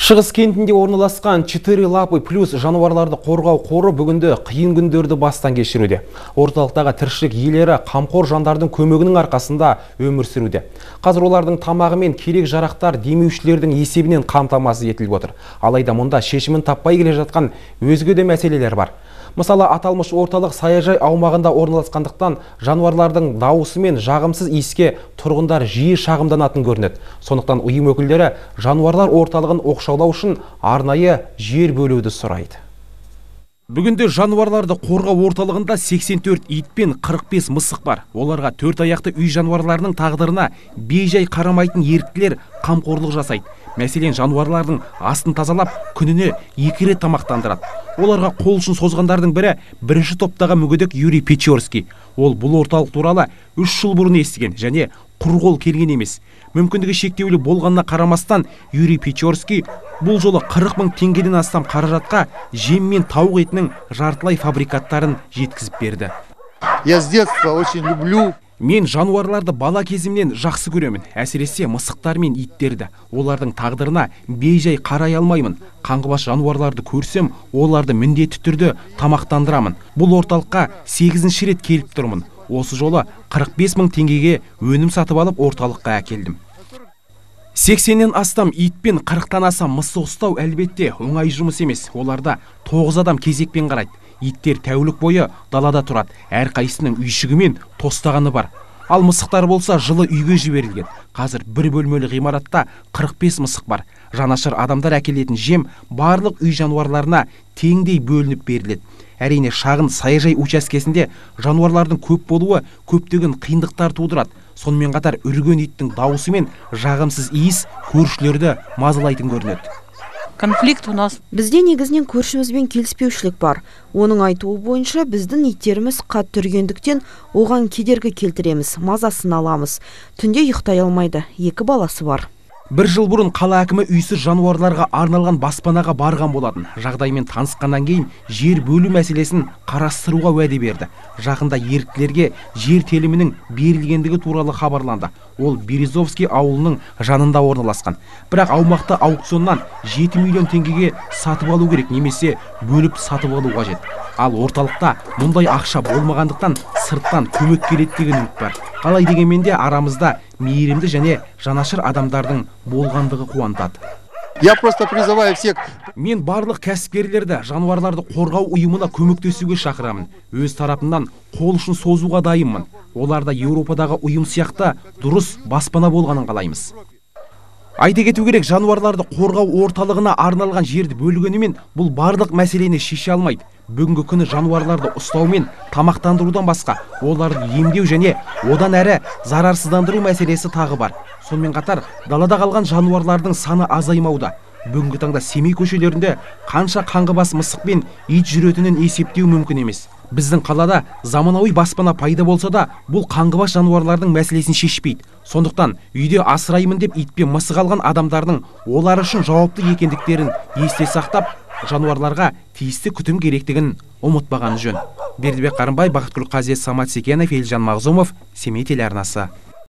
Шығыс кентінде орналасқан 4 лапы плюс жануарларды қорғау қоры бүгінде қиын күндерді бастан кешіруде. Орталықтағы тіршілік иелері қамқор жандардың көмегінің арқасында өмір сүруде. Қазір олардың тамағы мен керек жарақтар демеушілердің есебінен қамтамасыз етіліп отыр. Алайда мұнда шешімін таппай келе жатқан өзге де мәселелер бар. Мысалы, аталмыш орталық саяжай аумағында орналасқандықтан жануарлардың дауысы мен жағымсыз иіске тұрғындар жиі шағымданатын көрінеді. Сондықтан ұйым өкілдері жануарлар орталығын оқшаулау үшін арнайы жер бөлуді сұрайды. Бүгінде жануарларды қорғау орталығында 84 ит пен 45 мысық бар. Оларға 4 аяқты үй жануарларының тағдырына бейжай қарамайтын еріктілер қамқорлық жасайды. Мәселен, жануарлардың астын тазалап, күніне 2 рет тамақтандырады. Оларға қол ұшын созғандардың бірі бірінші топтағы мүгедек Юрий Печорский. Ол бұл орталық туралы 3 жыл бұрын естіген және құр қол келген емес. Мүмкіндігі шектеулі болғанына қарамастан, Юрий Печорский бұл жолы 40 000 теңгеден астам қаражатқа жем мен тауық етінің жартылай фабрикаттарын жеткізіп берді. Я с детства очень люблю. Мен жануарларды бала кезімнен жақсы көремін, әсіресе мысықтар мен иттерді. Олардың тағдырына бейжай қарай алмаймын. Қаңғыбас жануарларды көрсем, оларды міндетті түрде тамақтандырамын. Бұл орталыққа 8-ші рет келіп тұрмын. Осы жолы 45 000 теңгеге өнім сатып алып орталыққа әкелдім. 80-нен астам ит пен 40-тан аса мысық ұстау әлбетте оңай жұмыс емес. Оларда 9 адам кезекпен қарайды. Иттер тәулік бойы далада тұрады. Әрқайсының үйшігі мен тостағаны бар. Ал мысықтар болса жылы үйге жіберілген. Қазір бір бөлмелі ғимаратта 45 мысық бар. Жанашыр адамдар әкелетін жем барлық үй жануарларына теңдей бөлініп беріледі. Әрине, шағын саяжай учаскесінде жануарлардың көп болуы көптеген қиындықтар тудырады. Сонымен қатар үрген иттің дауысы мен жағымсыз иіс көршілерді мазалайтын көрінеді. Конфликт у нас. Бізде негізінен көршімізбен келіспеушілік бар. Оның айтуы бойынша біздің иттеріміз қатты үргендіктен оған кедергі келтіреміз, мазасын аламыз. Түнде ұйықтай алмайды, 2 баласы бар. Бір жыл бұрын қала әкімі үйсіз жануарларға арналған баспанаға барған болатын. Жағдаймен танысқаннан кейін жер бөлу мәселесін қарастыруға уәде берді. Жақында еріктілерге жер телімінің берілгендігі туралы хабарланды. Ол Березовский ауылының жанында орналасқан. Бірақ аумақты аукционнан 7 миллион теңгеге сатып алу керек, немесе бөліп сатып алу қажет. Ал орталықта мұндай ақша болмағандықтан сырттан көмек келеді деген үміт бар. Қалай дегенмен де арамызда мейірімді және жанашыр адамдардың болғандығы қуантады. Я просто призываю всех. Мен барлық кәсіпкерлерді жануарларды қорғау ұйымына көмектесуге шақырамын. Өз тарапымнан қол ұшын созуға дайынмын. Оларда Еуропадағы ұйым сияқты дұрыс баспана болғанын қалаймыз. Айта кету керек, жануарларды қорғау орталығына арналған жерді бөлгенімен бұл барлық мәселені шеше алмайды. Бүгінгі күні жануарларды ұстау мен тамақтандырудан басқа, оларды емдеу және одан әрі зарарсыздандыру мәселесі тағы бар. Сонымен қатар, далада қалған жануарлардың саны азаймауда. Бүгінгі таңда Семей көшелерінде қанша қаңғыбас мысық пен ит жүретінін есептеу мүмкін емес. Біздің қалада заманауи баспана пайда болса да, бұл қаңғыбас жануарлардың мәселесін шешпейді. Сондықтан үйде асыраймын деп ит пен мысық алған адамдардың олар үшін жауапты екендіктерін есте сақтап, жануарларға тиісті күтім керектігін ұмытпағаны жөн. Бердібек Қарымбай, Бақытгүл Қазет, Самат Секенов, Елжан Мағзумов, Семей телеарнасы.